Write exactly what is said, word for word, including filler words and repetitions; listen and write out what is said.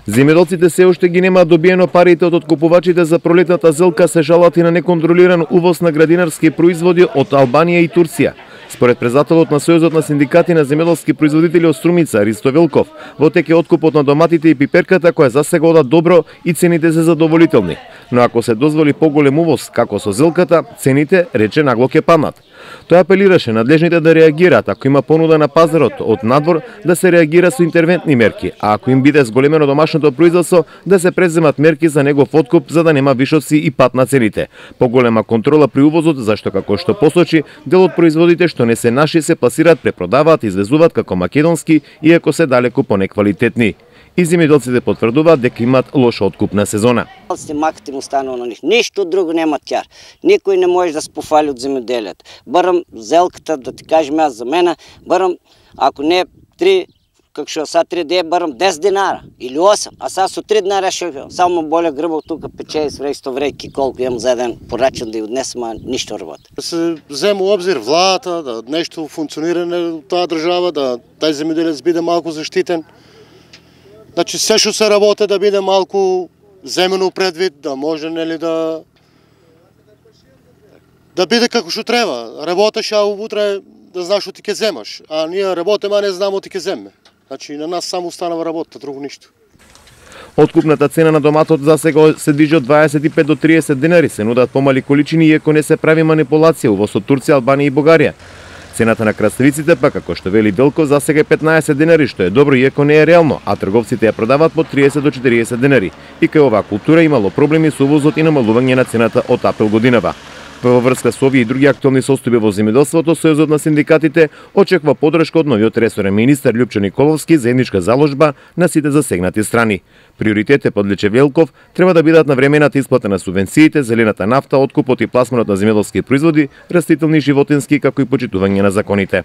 Земјоделците се уште ги немаат добиено парите од откупувачите за пролетната зелка, се жалат и на неконтролиран увоз на градинарски производи од Албанија и Турција. Според председателот на Сојузот на синдикати на земјоделски производители од Струмица, Ристо Велков, во тек е откупот на доматите и пиперката која засега ода добро и цените се задоволителни. Но ако се дозволи поголем увоз, како со зелката, цените, рече, нагло ќе паднат. Тој апелираше надлежните да реагираат ако има понуда на пазарот од надвор, да се реагира со интервентни мерки, а ако им биде зголемено домашното производство, да се преземат мерки за негов откуп за да нема вишоци и пад на цените. Поголема контрола при увозот, зашто како што посочи, дел од производите што не се наши се пласираат, препродаваат, извезуваат како македонски, иако се далеку понеквалитетни. И земјоделците потврдуваат дека имаат лоша откупна сезона. Маките му станува на них. Ништо друго нема тјар. Никој не може да се пофали од земјоделието. Барам зелката, да ти кажем аз за мене, барам, ако не три, како што са три де, барам десет динара или осем, а са со три динара ще само боле грбав тука пече и свре исто врејки колку имам за еден порачен да ја однесам, а ништо работа. Да се зема обзир владата, да нешто функционирање од таа држава, да тај земјоделец биде малку заштитен. Значи, се што се работи да биде малку земено предвид, да може нели да да биде како што треба. Работеш, а утре да знаеш што ти ќе земаш. А ние работиме, а не знаеме ти ќе земе. Значи, на нас само останава работа, друго ништо. Откупната цена на доматот засега се движи од дваесет и пет до триесет денари, се нудат помали количини иако не се прави манипулација увоз од Турција, Албанија и Бугарија. Цената на краставиците, па како што вели Велков, засега е петнаесет денари, што е добро иако не е реално, а трговците ја продаваат по триесет до четириесет денари. И кај оваа култура имало проблеми со увозот и намалување на цената од април годинава. Во врска со овие и други актуелни состојби во земјоделството, Сојузот на синдикатите очекува поддршка од новиот ресорен министер Љупчо Николовски за заедничка заложба на сите засегнати страни. Приоритет е, подлече Велков, треба да бидат навремената исплата на субвенциите, зелената нафта, откупот и пласманот на земјоделски производи, растителни и животински, како и почитување на законите.